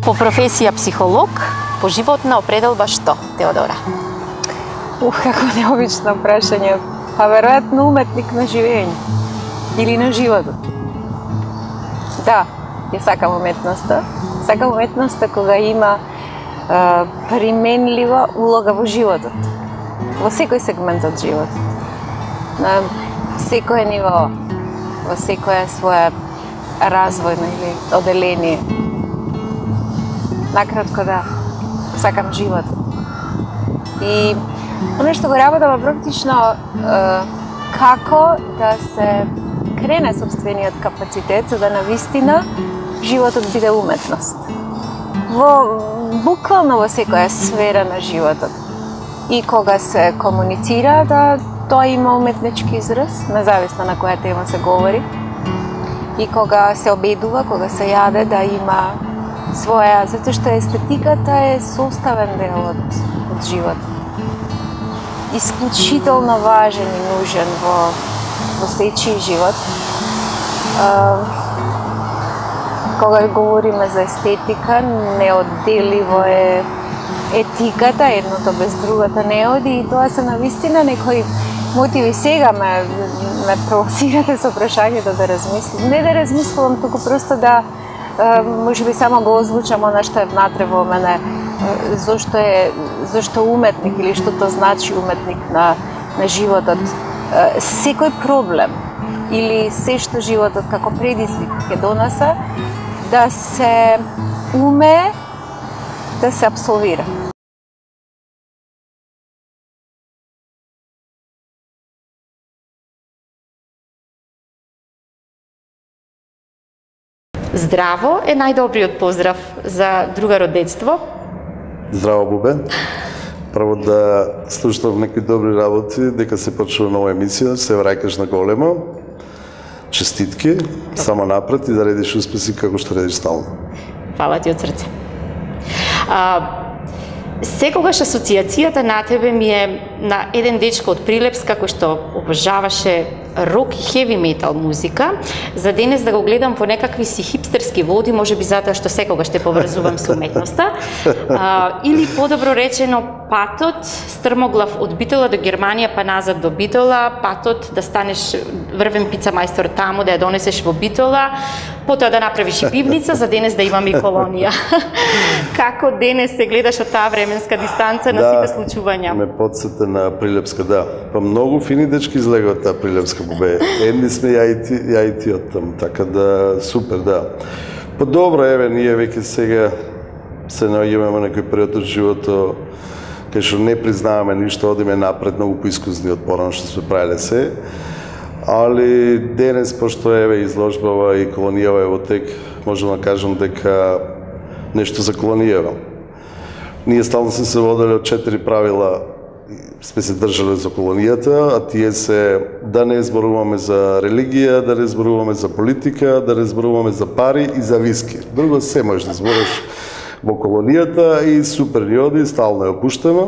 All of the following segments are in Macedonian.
По професија психолог, по животна определба што, Теодора? Како необично прашање. Па веројатно уметник на живење или на животот. Да, ја сакам уметноста. Сакам уметноста кога има применлива улога во животот. Во секој сегмент од животот. На секое ниво, во секоја своја развојно или оделение. Накратко да, сакам животот. И оно што го работам практично како да се крене сопствениот капацитет за да навистина животот биде уметност. Буквално во секоја сфера на животот. И кога се комуницира да тоа има уметнички израз, независно на која тема се говори. И кога се обедува, кога се јаде, да има своја, затоа што естетиката е составен дел од животот. Исклучително важен и нужен во сечи живот. Кога говориме за естетика, неодделиво е етиката, едното без другото не оди, и тоа се навистина некои мотиви. Сега ме провоцирате со прашањето да размислам. Не да размислувам, туку просто да можеби само го озвучам она што е внатре во мене. Зошто уметник или што тоа значи уметник на животот. Секој проблем или се што животот како предизвик ќе донесе, да се уме да се абсолвира. Здраво е најдобриот поздрав за другаро детство. Здраво, Бубе. Прво да слушнав некои добри работи, дека се почува нова емисија, се враќаш на големо. Честитки, само напред и да редиш успеси како што редиш стално. Фала ти од срце. Секогаш асоциацијата на тебе ми е на еден дечко од Прилепска кој што обожаваше рок и хеви метал музика. За денес да го гледам во некакви си хипстерски води, можеби затоа што секогаш те поврзувам со уметноста. Или подобро речено, патот стрмоглав од Битола до Германија па назад до Битола, патот да станеш врвен пица мајстор таму, да ја донесеш во Битола, потоа да направиш и пивница, за денес да имаме и колонија. Како денес се гледаш од таа временска дистанца на сите случувања? Ме подсете на Прилепска, да. Па многу фини дечки излега од таа Прилепска, Бубе. Едни сме ја и ти од таму, така да супер, да. Па добро, еве, ние веќе сега се наоѓаме во некој период од живото кај што не признаваме ништо, одиме напред, многу поискусни од порано што сме правиле се. Али денес, пошто еве изложбава и колонијава е во тек, можам да кажам дека нешто за колонијава. Ние стално сме се водели од 4 правила, сме се држале за колонијата, а тие се да не зборуваме за религија, да не зборуваме за политика, да не зборуваме за пари и за виски. Друго се можеш да збориш во колонијата и супер ни оди, стално ја опуштаме.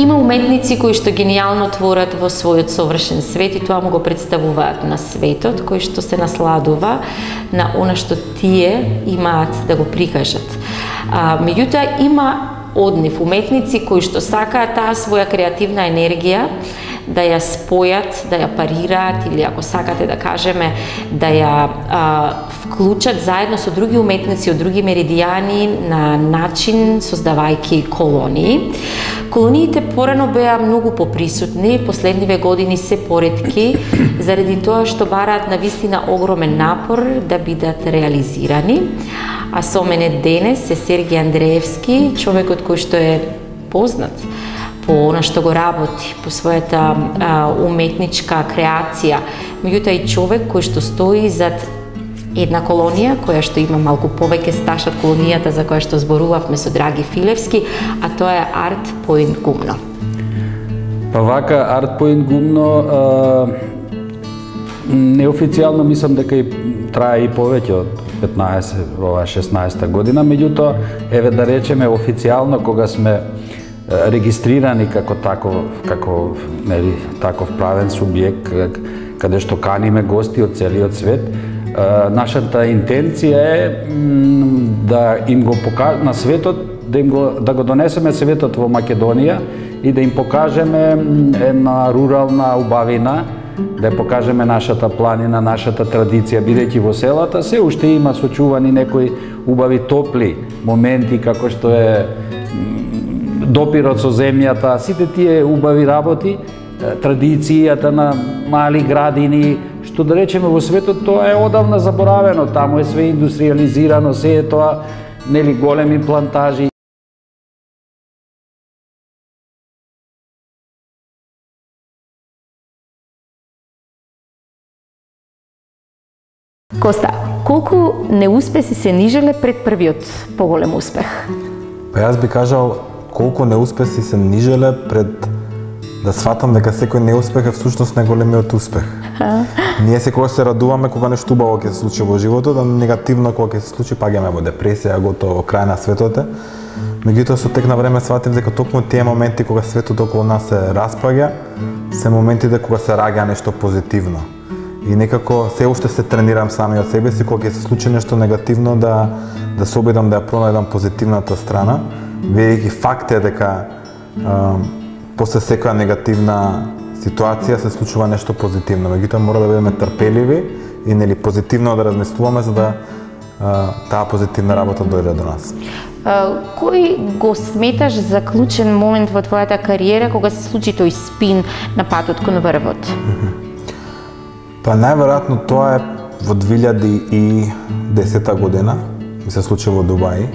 Има уметници кои што генијално творат во својот совршен свет и тоа му го представуваат на светот, кој што се насладува на она што тие имаат да го прикажат. Меѓутоа има од нив уметници кои што сакаат таа своја креативна енергија да ја спојат, да ја парираат или ако сакате да кажеме да ја вклучат заедно со други уметници од други меридијани на начин создавајќи колонии. Колониите порано беа многу поприсутни, последниве години се поретки, заради тоа што бараат навистина огромен напор да бидат реализирани. А со мене денес е Сергиј Андреевски, човекот кој што е познат по она што го работи, по својата уметничка креација, меѓутоа и човек кој што стои зад една колонија која што има малку повеќе стаж од колонијата за која што зборувавме со Драги Филевски, а тоа е Арт Поинт Гумно. Па вака, Арт Поинт Гумно неофицијално мислам дека и трае и повеќе од 16 година, меѓутоа, еве да речеме официјално кога сме регистрирани како таков правен субјект, каде што каниме гости од целиот свет. Нашата интенција е да им го покажеме на светот, да го донесеме светот во Македонија и да им покажеме една рурална убавина, да ја покажеме нашата планина, нашата традиција, бидејќи во селата се уште има сочувани некои убави топли моменти, како што е допирот со земјата, сите тие убави работи, традицијата на мали градини, што да речеме во светот тоа е одавна заборавено, таму е све индустриализирано, се е тоа, нели, големи плантажи. Коста, колку неуспеси се нижеле пред првиот поголем успех? Па јас би кажал колку неуспеси се нижеле пред да сватам дека секој неуспех е всушност најголемиот успех. Ние секогаш се радуваме кога нешто убаво ќе се случи во животот, а негативно кога ќе се случи паѓаме во депресија, готово крај на светот е. Меѓутоа со тек на време сватив дека токму тие моменти кога светот околу нас се распаѓа, се моментите кога се раѓа нешто позитивно. И некако се уште се тренирам самиот себе си кога ќе се случи нешто негативно да се обидам да ја пронајдам позитивната страна, ведејќи факт е дека после секоја негативна ситуација се случува нешто позитивно. Меѓутоа мора да бидеме трпеливи и нели позитивно да размислуваме за да таа позитивна работа дојде до нас. Кој го сметаш за клучен момент во твојата кариера кога се случи тој спин на патот кон врвот? Па најверојатно тоа е во 2010 година, ми се случи во Дубај.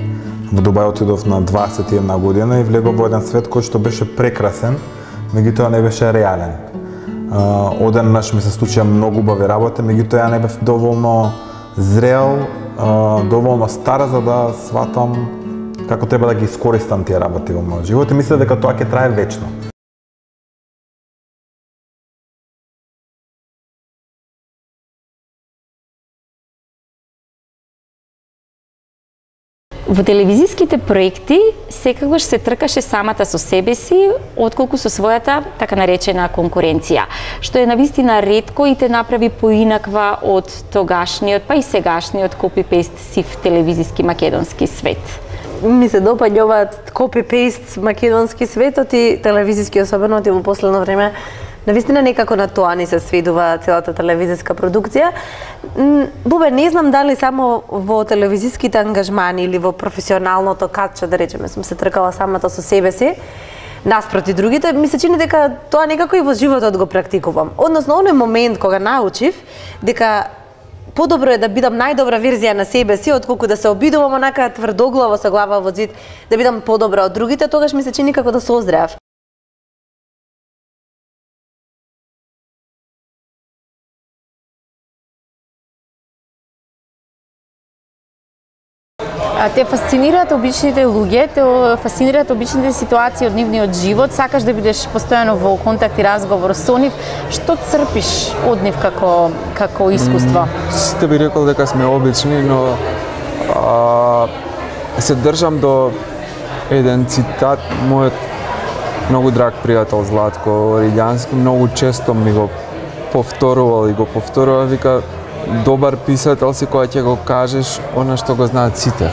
Во Дубај отидов на 21 година и влегов во еден свет кој што беше прекрасен, меѓутоа не беше реален. Одеднаш ми се случија многу убави работи, меѓутоа ја не бев доволно зрел, доволно стар за да сватам како треба да ги искористам тие работи во мојот живот и мислев дека тоа ќе трае вечно. Во телевизиските проекти секогаш се тркаше самата со себе си, отколку со својата така наречена конкуренција, што е навистина ретко и те направи поинаква од тогашниот, па и сегашниот копи-пейст сив телевизиски македонски свет. Ми се допаѓаат копи-пейст македонски светот и телевизиски, особено во последно време. Навистина некако на тоа ни се сведува целата телевизиска продукција. Бубе, не знам дали само во телевизиските ангажмани или во професионалното катче, да речеме, сум се тркала самата со себе си, наспроти другите, ми се чини дека тоа некако и во животот го практикувам. Односно, оној момент кога научив дека подобро е да бидам најдобра верзија на себе си, отколку да се обидувам онака тврдоглаво со глава во зид, да бидам подобра од другите, тогаш ми се чини како да созреав. Те фасцинираат обичните луѓе, те фасцинираат обичните ситуации од нивниот живот, сакаш да бидеш постојано во контакт и разговор со нив. Што црпиш од нив како искуство? Сите би рекол дека сме обични, но се држам до еден цитат, мојот многу драг пријател Златко Орилјански многу често ми го повторувал и го повторува, вика, добар писател си кога ќе го кажеш она што го знаат сите.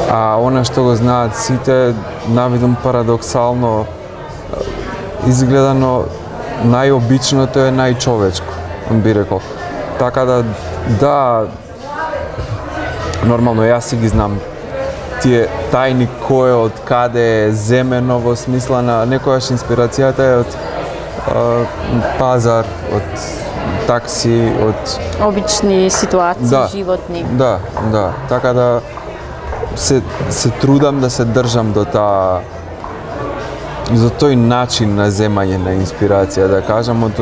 А она што го знаат сите, навидум парадоксално изгледано, најобичното е најчовечко, би рекол. Така да, нормално јас си ги знам тие тајни кој од каде е земено, во смисла на некојаш инспирацијата е од пазар, од такси, од обични ситуации, животни. Да. Така да се трудам да се држам до тој начин на земање на инспирација, да кажам, од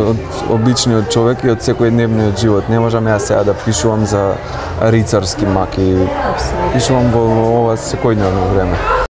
обичниот човек и од секојдневниот живот. Не можам јас сега да пишувам за рицарски маки, пишувам во ова секојдневно време.